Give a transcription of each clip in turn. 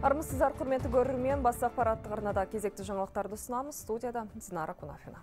Армысыздар, құрметті көрермен, бас ақпараттық арнада кезекті жаңалықтарды ұсынамыз. Студияда Динара Кунафина.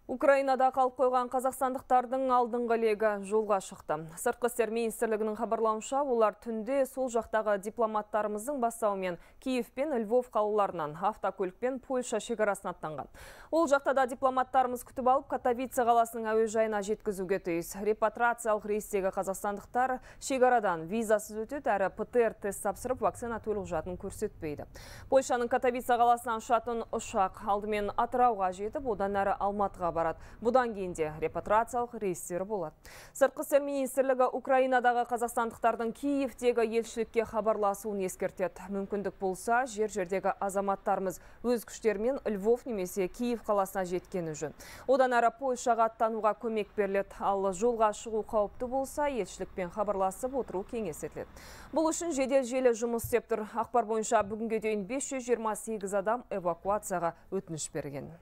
Украинада қалып қойған қазақстандықтардың алдыңғы легі жолға шықты. Сыртқы істер министрлігінің хабарлауынша, олар түнде сол жақтағы дипломаттарымыздың бастауымен Киев пен Львов қалаларынан автокөлікпен Польша шекарасын аттанған. Ол жақтада дипломаттарымыз күтіп алып, Катовице қаласының әуежайына жеткізуге тиіс. Репатрациялық рейстегі қазақстандықтар шекарадан визасыз өтеді, әрі ПТР тест тапсырып, вакцина төлік жатын көрсетпейді. Польшаның Катовице қаласынан ұшатын ұшақ алдымен Атырауға жетіп, одан әрі Алматыға барады. Бұдан кейін де репатрациялық рейстері болады. Сыртқы істер министрлігі Украинадағы қазақстандықтардың Киевтегі елшілікке хабарласуын ескертеді. Мүмкіндік болса, жер-жердегі азаматтарымыз өз күштерімен Львов немесе Киев қаласына жеткені жөн. Одан әрі Польшаға аттануға көмек беріледі. Ал жолға шығу қауіпті болса, елшілікпен хабарласып отыру кеңес етіледі. Бұл үшін жедел желі жұмыс істеп тұр. Ақпар бойынша бүгінге дейін 528 адам эвакуацияға өтініш берген.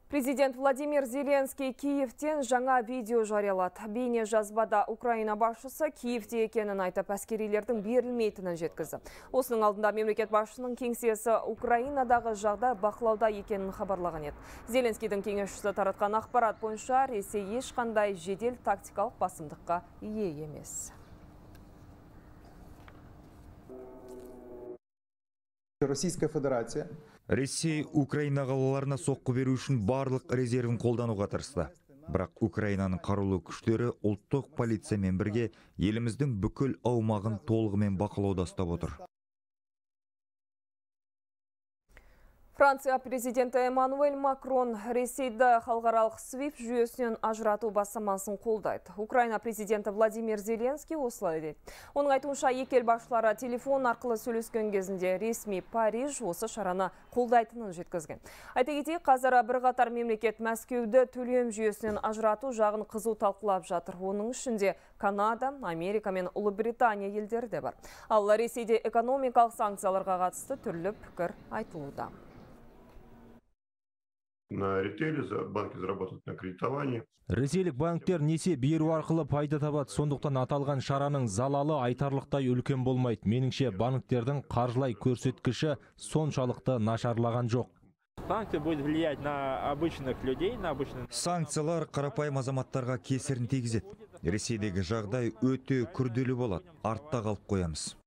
Президент Владимир Зеленский Киевтен жаңа видео жариялады. Бейне жазбада Украина басшысы Киевте екенін айтып, әскерилердің берілмейтінін жеткізді. Осының алдында мемлекет басшысының кеңсесі Украинадағы жағдай бақылауда екенін хабарлаған еді. Зеленскийдің кеңесшісі таратқан ақпарат бойынша Ресей ешқандай жедел тактикалық басымдыққа ие емес. Российская Федерация Ресей Украина қалаларына соққы беру үшін барлық резервін қолдануға тырысты. Бірақ Украинаның қарулы күштері ұлттық полициямен бірге еліміздің бүкіл аумағын толығымен бақылауда ұстап отыр. Франция президенті Эммануэль Макрон Ресейді халықаралық SWIFT жүйесінен ажырату бастамасын қолдайды. Украина президенті Владимир Зеленский осылай дейді. Оның айтуынша екі ел басшылары телефон арқылы сөйлескен кезінде ресми Париж осы шараны қолдайтынын жеткізген. Айта кетейік, қазір бірқатар мемлекет Мәскеуді төлем жүйесінен ажырату жағын қызу талқылап жатыр. Оның ішінде Канада, Америка мен Ұлыбритания елдері де бар. Ал Ресейде экономикалық санкцияларға қатысты түрлі пікір айтылуда. На ритейле банки заработают на кредитовании. Ресейлік банктер несие беру арқылы пайда табады. Сондықтан аталған шараның залалы айтарлықтай үлкен болмайды. Меніңше банктердің қаржылай көрсеткіші соншалықты нашарлаған жоқ. Санкции будет влиять на обычных людей, на обычных... Санкциялар қарапайым азаматтарға кесірін тигізеді. Ресейдегі жағдай өте күрделі болады. Артта қалып қоямыз.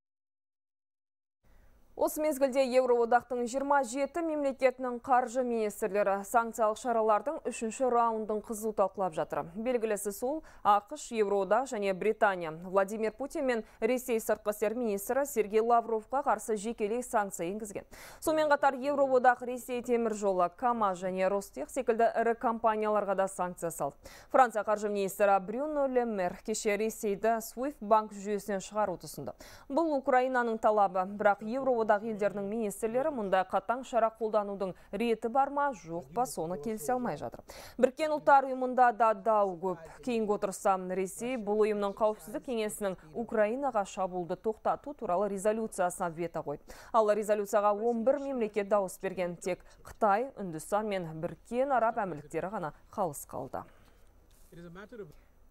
Осы мезгілде Еуроодақтың 27 мемлекетінің қаржы министрлері санкциялық шаралардың 3-ші раундын қызу талқылап жатыр. Белгілісі сол ақш, Еуроодақ және Британия. Владимир Путин мен Ресей сыртқы істер министрі Сергей Лавровқа қарсы жекелей санкция енгізген. Сонымен қатар Еуроодақ, Ресей темір жолы, КАМАЗ және Ростех секілді ірі компанияларға да санкция салды. Франция қаржы министрі Брюно Ле Мэр кеше Ресейді SWIFT банк жүйесінен шығару ұсынды. Бұл Украинаның талабы, бірақ Еуроодақ елдерінің министрлері мұндай қатаң шара қолданудың реті бар ма, жоқ па, соны келісе алмай жатыр. Біріккен ұлттар ұйымында да дау көп. Кейінгі отырыста Ресей бұл ұйымның қауіпсіздік кеңесінің Украинаға шабуылды тоқтату туралы резолюциясына вето қойды. Ал резолюцияға 11 мемлекет дауыс берген, тек Қытай, Үндістан мен Біріккен Араб Әмірліктері ғана қалыс қалды.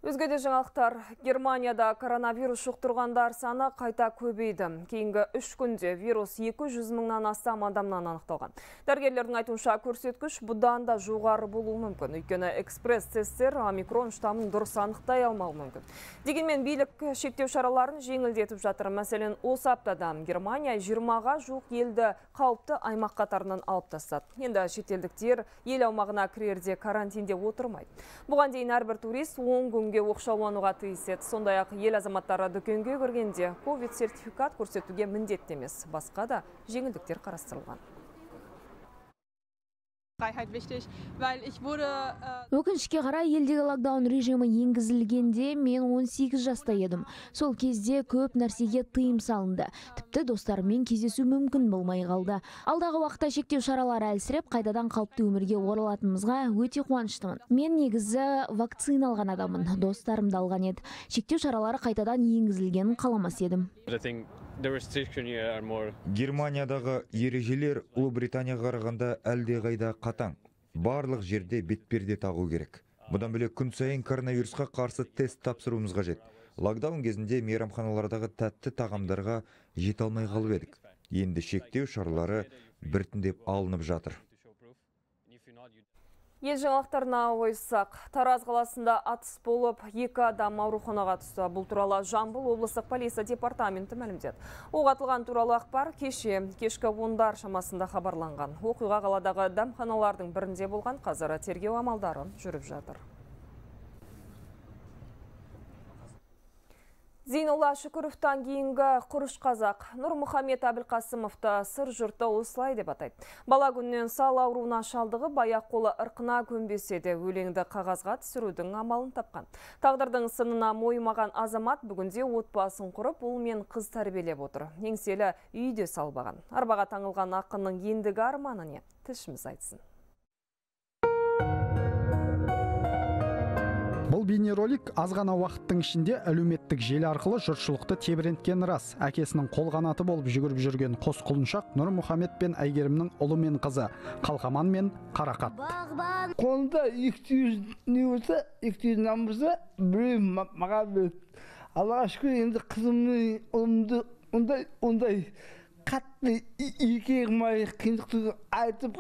Өзгеде жаңалықтар. Германияда коронавирус жұқтырғандар саны қайта көбейді. Кейінгі 3 күнде вирус 200 мыңнан астам адамнан анықталған. Дәрігерлердің айтуынша көрсеткіш бұдан да жоғары болуы мүмкін. Өйткені экспресс-тесттер омикрон штамын дұрыс анықтай алмауы мүмкін. Дегенмен билік шектеу шараларын жеңілдетіп жатыр. Мәселен, осы аптада Германия 20-ға жуық елді қауіпті аймақ қатарынан алып тастады. Енді шетелдіктер ел аумағына кірерде карантинде отырмайды. Бұған дейін әрбір турист 10 күнге оқшаулануға тиіс еді. Сондай-ақ ел азаматтары дүкенге кіргенде ковид сертификат көрсетуге міндетті емес. Басқа да жеңілдіктер қарастырылған. Өкінішке қарай елдегі локдаун режимі енгізілгенде мен 18 жаста едім. Сол кезде көп нәрсеге тыйым салынды. Тіпті достарыммен кездесу мүмкін болмай қалды. Алдағы уақытта шектеу шаралары әлсіреп, қайтадан қалыпты өмірге оралатынымызға өте қуаныштымын. Мен негізі вакцина алған адамын, достарым да алған еді. Шектеу шаралары қайтадан енгізілгенін қаламас едім. Германиядағы ережелер Ұлыбританияға қарағанда әлдеқайда қатаң. Барлық жерде бетперде тағу керек. Бұдан бөлек күн сайын коронавирусқа қарсы тест тапсыруымыз қажет. Локдаун кезінде мейрамханалардағы тәтті тағамдарға жете алмай қалып едік. Енді шектеу шаралары біртіндеп алынып жатыр. Ел жаңалықтарына ойыссақ, Тараз қаласында атыс болып, 2 адам ауруханаға түсті. Бұл туралы Жамбыл облыстық полиция департаменті мәлімдеді. Оқ атылған туралы ақпар кешкі 10-дар шамасында хабарланған. Оқиға қаладағы дәмханалардың бірінде болған, қазір тергеу амалдары жүріп жатыр. Зейнолла Шүкіровтан кейінгі құрыш қазақ Нұрмұхамед Әбілқасымовты сыр жұрты осылай деп атайды. Бала күннен сал ауруына шалдығы баяқ қолы ырқына көнбесе де өлеңді қағазға түсірудің амалын тапқан. Тағдырдың сынына мойымаған азамат бүгінде отбасын құрып, ұл мен қыз тәрбиелеп отыр. Еңселі үйде салбаған. Арбаға таңылған ақынның ендігі арманы не? Тілшіміз айтсын. Бұл бейнеролик аз ғана уақыттың ішінде әлеуметтік желі арқылы жұртшылықты тебіренткен рас. Әкесінің қолғанаты болып жүгіріп жүрген қос құлыншақ Нұрмұхамед пен Әйгерімнің ұлы мен қызы, Қалқаман мен Қарақат. Қолында 200 не болса, 200 намырса, біреу маған берді. Аллаға шүкір, енді қызымның ұлымды ондай қатты екі егімай қиындықты айтып,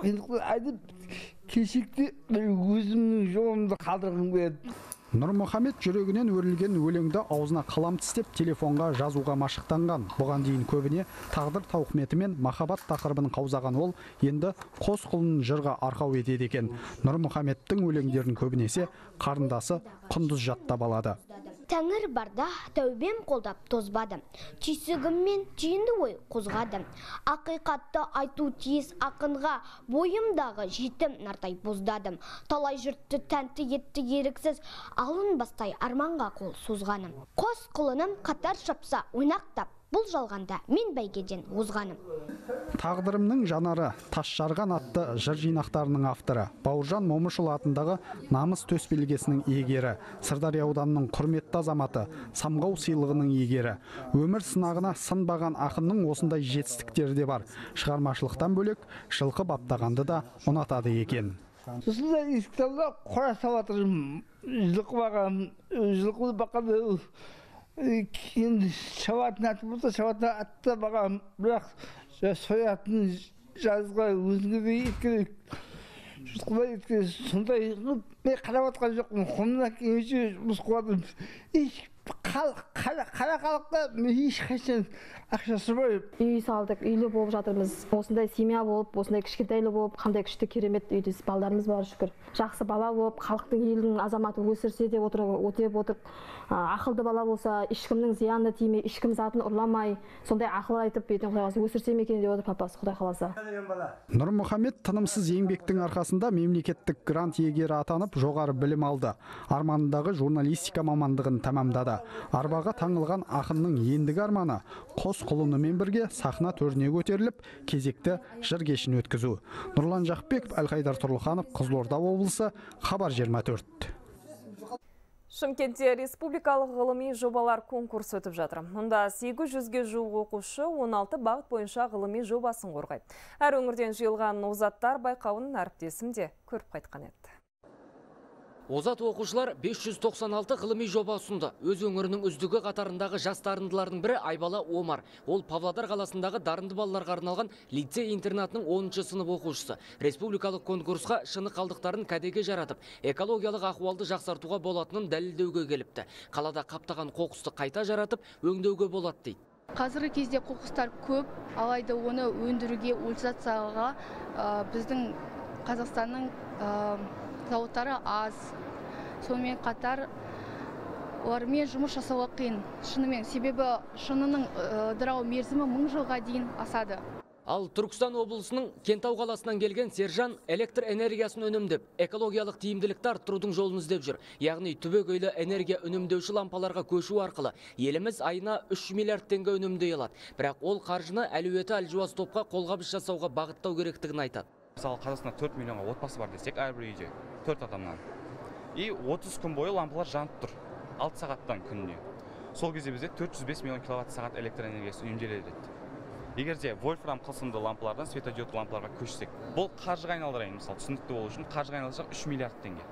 кешекте өзімнің жолымды қалдырғым келеді. Нұрмұхамед жүрегінен өрілген өлеңді аузына қалам тістеп телефонға жазуға машықтанған. Бұған дейін көбіне тағдыр тауқыметі мен махаббат тақырыбын қаузаған ол енді қос құлын жырға арқау етеді екен. Нұрмұхамедтің өлеңдерін көбінесе қарындасы Құндыз жаттап алады. Тәңір барда тәубем қолдап тозбадым. Түйсігіммен түйінді ой қозғадым. Ақиқатты айту тиіс ақынға бойымдағы жетім нартай боздадым. Талай жұртты тәнті етті еріксіз алын бастай арманға қол созғаным. Қос құлыным қатар шапса ойнақтап, бұл жалғанда мен бәйгеден озғаным. Тағдырымның жанары тас жарған атты жыр жинақтарының авторы Бауыржан Момышұлы атындағы намыс төсбелгісінің иегері, Сырдария ауданының құрметті азаматы, Самғау сыйлығының иегері. Өмір сынағына сынбаған ақынның осындай жетістіктері де бар. Шығармашылықтан бөлек жылқы баптағанды да ұнатады екен. Осында ескіталда қора саватырым, жылқы бақады. Енді шабатын аты болса, шабатын атты бағам, бірақ соятын жазға өзіңізді еткерек. Жұтқылай еткерек, сондай мен қарап атқан жоқпын, қолымнан келгенше жұмыс қыладым. Қара халықта мен ешқашан ақша сұрмаймын. Үй салдық, үйлі болып жатырмыз. Осындай семья болып, осындай кішкентайлы болып, қандай күшті керемет үйде балдарымыз бар шүкір. Жақсы бала болып, халықтың елдің азаматы өсірсе де отырып, ақылды бала болса, ешкімнің зиянына тимей, ешкім затын ұрламай, сондай ақыл айтып, бетін құдай өсірсем екен деп отыр папасы, құдай қаласа. Нұрмұхамед тынымсыз еңбектің арқасында мемлекеттік грант иегері атанып, жоғары білім алды. Арманындағы журналистика мамандығын тәмамдады. Арбаға таңылған ақынның ендігі арманы қос құлынымен бірге сахна төріне көтеріліп, кезекті жыр кешін өткізу. Нұрлан Жақпеков, Әлқайдар Тұрлыханов, Қызылорда облысы, Хабар 24. Шымкентте республикалық ғылыми жобалар конкурсы өтіп жатыр. Мұнда 800-ге жуық оқушы 16 бағыт бойынша ғылыми жобасын қорғайды. Әр өңірден жиылған озаттар байқауын әріптесім де көріп қайтқан еді. Озат оқушылар 596 ғылыми жоба ұсынды. Өз өңірінің үздігі қатарындағы жас дарындылардың бірі Айбала Омар. Ол Павлодар қаласындағы дарынды балаларға арналған лицей-интернатының 10-шы сынып оқушысы. Республикалық конкурсқа шыны қалдықтарын кәдеге жаратып, экологиялық ахуалды жақсартуға болатынын дәлелдеуге келіпті. Қалада қаптаған қоқысты қайта жаратып, өңдеуге болады дейді. Қазіргі кезде қоқыстар көп, алайда оны өндіруге, утилизацияға біздің Қазақстанның зауыттары аз. Сонымен қатар олармен жұмыс жасауға қиын. Шынымен, себебі шынының ыдырау мерзімі 1000 жылға дейін асады. Ал Түркістан облысының Кентау қаласынан келген Сержан электр энергиясын үнемдеп, экологиялық тиімділікті арттырудың жолын іздеп жүр. Яғни түбегейлі энергия үнемдеуші лампаларға көшу арқылы еліміз айына 3 миллиард теңге үнемдей алады. Бірақ ол қаржыны әлеуеті әлжуаз топқа қолғабыс жасауға бағыттау керектігін айтады. Мысалы, Қазақстанда 4 миллионға отбасы бар десек, әрбір үйде 4 адамнан. И 30 күн бойы лампалар жанып тұр. 6 сағаттан күніне. Сол кезде бізде 405 миллион киловатт сағат электр энергиясы үнемделеді. Егер де вольфрам қысымды лампалардан светодиодты лампаларға көшсек, бұл қаржыға айналдырайын, мысалы, түсінікті болу үшін қаржыға айналдырсақ 3 миллиард теңге.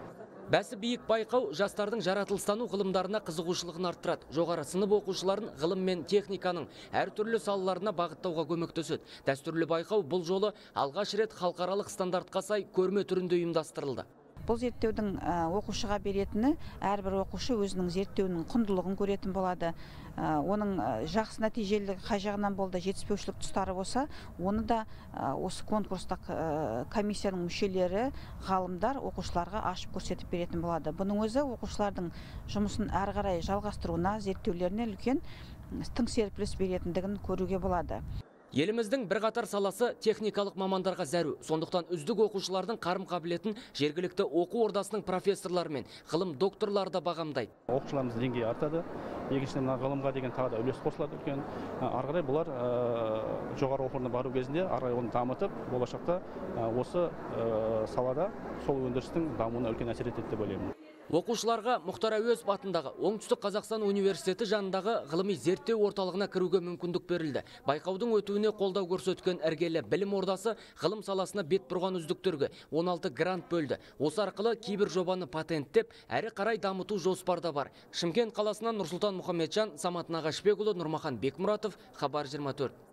Бәсі биік байқау жастардың жаратылыстану ғылымдарына қызығушылығын арттырады. Жоғары сынып оқушыларын ғылым мен техниканың әртүрлі салаларына бағыттауға көмектеседі. Дәстүрлі байқау бұл жолы алғаш рет халықаралық стандартқа сай көрме түрінде ұйымдастырылды. Бұл зерттеудің оқушыға беретіні, әрбір оқушы өзінің зерттеуінің құндылығын көретін болады. Оның жақсы нәтижелілігі қай жағынан болды, жетіспеушілік тұстары болса, оны да осы конкурстық комиссияның мүшелері, ғалымдар оқушыларға ашып көрсетіп беретін болады. Бұның өзі оқушылардың жұмысын әрі қарай жалғастыруына, зерттеулеріне үлкен тың серпіліс беретіндігін көруге болады. Еліміздің бірқатар саласы техникалық мамандарға зәру. Сондықтан үздік оқушылардың қарым қабілетін жергілікті оқу ордасының профессорлары мен ғылым докторлары да бағамдайды. Оқушыларымыздың деңгейі артады. Екіншіден ғылымға деген тағы да үлес қосылады үлкен. Ары қарай бұлар жоғары оқу орнына бару кезінде ары қарай оны дамытып, болашақта осы салада сол өндірістің дамуына үлкен әсер етеді деп ойлаймын. Оқушыларға Мұхтар Әуезов атындағы Оңтүстік Қазақстан университеті жанындағы ғылыми зерттеу орталығына кіруге мүмкіндік берілді. Байқаудың өтуіне қолдау көрсеткен іргелі білім ордасы ғылым саласына бет бұрған үздіктерге 16 грант бөлді. Осы арқылы кейбір жобаны патенттеп, әрі қарай дамыту жоспарда бар. Шымкент қаласынан Нұрсұлтан Мұхамеджан, Самат Нағашбекұлы, Нұрмахан Бекмұратов, Хабар 24.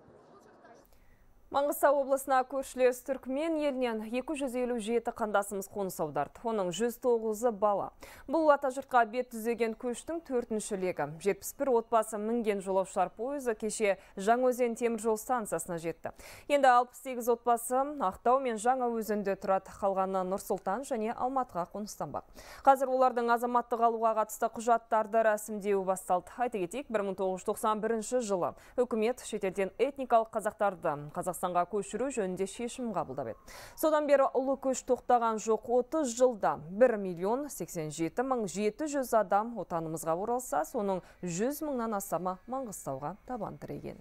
Маңғыстау облысына көршілес Түркмен елінен 257 қандасымыз қоныс аударды. Оның 109-ы бала. Бұл атажұртқа бет түзеген көштің 4-ші легі. 71 отбасы мінген жолаушылар пойызы кеше Жаңаөзен теміржол станциясына жетті. Енді 68 отбасы Ақтау мен Жаңаөзенде тұрады. Қалғаны Нұр-Сұлтан және Алматыға қоныстанбақ. Қазір олардың азаматтық алуға қатысты құжаттарды рәсімдеуі басталды. Айта кетейік, 1991 жылы үкімет шетелден этникалық қазақтарды Қазақстанға көшіру жөнінде шешім қабылдап еді. Содан бері ұлы көш тоқтаған жоқ. 30 жылда 1.087.700 адам отанымызға оралса, соның 100 мыңнан астамы Маңғыстауға табан тіреген.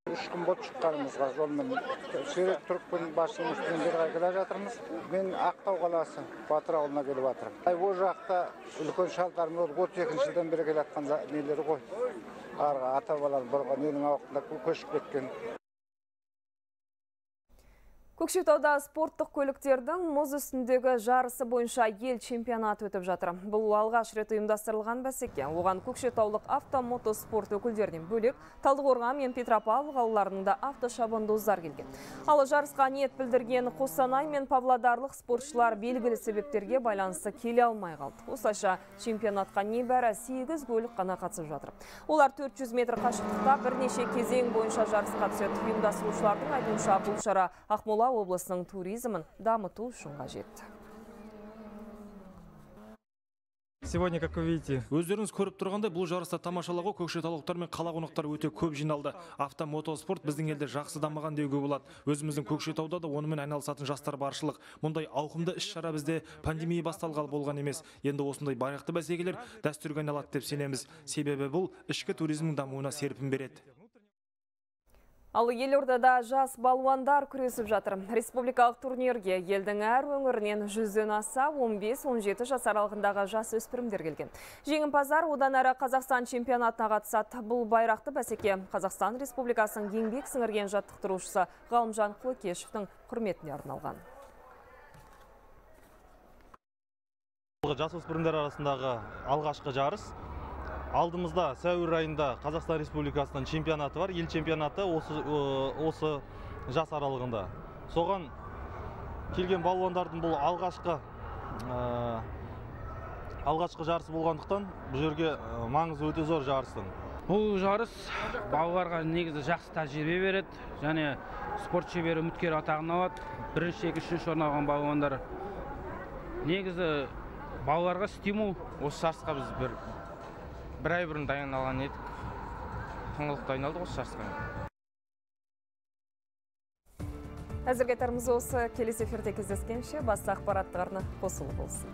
3 күн болып шыққанымызға жолмен Сүйрек Түрікпен басшының үстінен бері келе жатырмыз. Мен Ақтау қаласы Батыр ауылына келіп жатырмын. Ол жақта үлкен шалдарымыз 32 жылдан бері келе жатқан нелері ғой. Ата-бабалар бұрған елдің ауқында көшіп кеткен. Көкшетауда спорттық көліктердің мұз үстіндегі жарысы бойынша ел чемпионаты өтіп жатыр. Бұл алғаш рет ұйымдастырылған бәсеке. Оған көкшетаулық автомотоспорт өкілдерінен бөлек Талдықорған мен Петропавл қалаларының да автошабандоздар келген. Ал жарысқа ниет білдірген Қостанай мен Павлодарлық спортшылар белгілі себептерге байланысты келе алмай қалды. Осылайша чемпионатқа небәрі 8 көлік қана қатысып жатыр. Олар 400 метр қашықтықта бірнеше кезең бойынша жарысқа түседі. Ұйымдастырушылардың айтуынша бұл шара Ақмола облысының туризмін дамыту үшін қажет. Сегодня, как вы видите, өздеріңіз көріп тұрғандай, бұл жарыста тамашалауға көкшетаулықтар мен қала қонақтары өте көп жиналды. Автомотоспорт біздің елде жақсы дамыған деуге болады. Өзіміздің Көкшетауда да онымен айналысатын жастар баршылық. Мұндай ауқымды іс-шара бізде пандемия басталғалы болған емес. Енді осындай байрақты бәсекелер дәстүрге айналады деп сенеміз. Себебі бұл ішкі туризмнің дамуына серпін береді. Ал елордада жас балуандар күресіп жатыр. Республикалық турнирге елдің әр өңірінен 100-ден аса 15-17 жас аралығындағы жас өспірімдер келген. Жеңімпаздар одан әрі Қазақстан чемпионатына қатысады. Бұл байрақты бәсеке Қазақстан Республикасының еңбек сіңірген жаттықтырушысы Ғалымжан Құлыкешевтің құрметіне арналған. Жас өспірімдер арасындағы алғашқы жарыс. Алдымызда сәуір айында Қазақстан Республикасының чемпионаты бар, ел чемпионаты осы жас аралығында. Соған келген балуандардың бұл алғашқы жарысы болғандықтан бұл жерге маңызы өте зор жарыстың. Бұл жарыс балаларға негізі жақсы тәжірибе береді, және спорт шебері үміткер атағын алады. Бірінші, екінші орын алған балуандар. Негізі балаларға стимул. Осы жарысқа біз бір ай бұрын дайындалған едік. Тыңғылықты айналдық осы жарысқа. Әзірге тарымыз осы. Келесі эфирде кездескенше басқа ақпараттарына қосылы болсын.